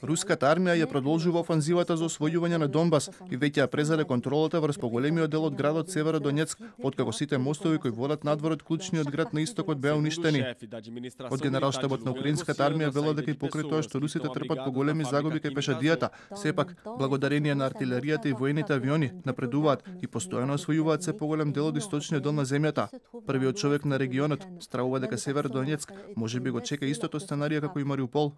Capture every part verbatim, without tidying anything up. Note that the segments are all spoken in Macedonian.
Руската армија ја продолжува офанзивата за освојување на Донбас и веќе ја презаде контролата врз поголемиот дел од градот Северодонецк, откако сите мостови кои водат надвор од клучниот град на истокот беа уништени. Од генералштабот на украинската армија велат дека и покрај тоа што русите трпат поголеми загуби кај пешадијата, сепак благодарение на артилеријата и воените авиони напредуваат и постојано освојуваат се поголем дел од источниот дел на земјата. Првиот човек на регионот стравува дека Северодонецк можеби го чека истото сценарија како и Мариупол.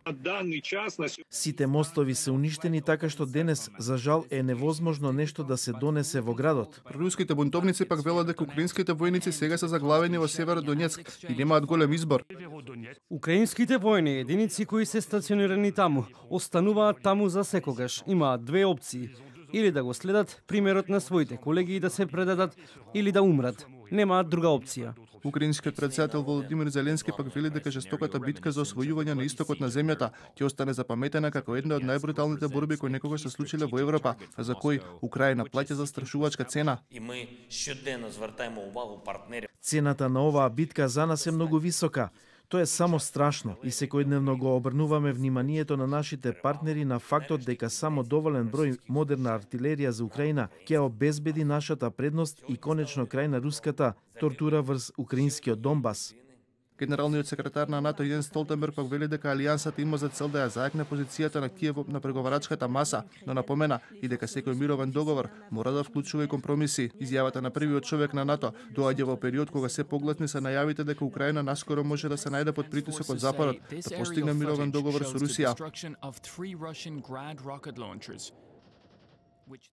Сите мостови се уништени, така што денес за жал е невозможно нешто да се донесе во градот. Руските бунтовници пак велат дека украинските војници сега се заглавени во Северодонецк и немаат голем избор. Украинските војни единици кои се стационирани таму остануваат таму за секогаш. Имаат две опции: или да го следат примерот на своите колеги и да се предадат, или да умрат. Немаат друга опција. Украинскиот претседател Володимир Зеленски пак вели дека жестоката битка за освојување на истокот на земјата ќе остане запаметена како една од најбруталните борби кои некогаш се случиле во Европа, за кои Украина плаќа застрашувачка цена. Цената на оваа битка за нас е многу висока. Тоа е само страшно и секојдневно го обрнуваме вниманието на нашите партнери на фактот дека само доволен број модерна артилерија за Украина ќе обезбеди нашата предност и конечно крај на руската тортура врз украинскиот Донбас. Генералниот секретар на НАТО Јенс Столтенберг пак вели дека алијансата има за цел да ја зајакне позицијата на Киев на преговарачката маса, но напомена и дека секој мировен договор мора да вклучува и компромиси. Изјавата на првиот човек на НАТО доаѓа во период кога се погласни се најавите дека Украина наскоро може да се најде под притисок од Западот да постигне мировен договор со Русија.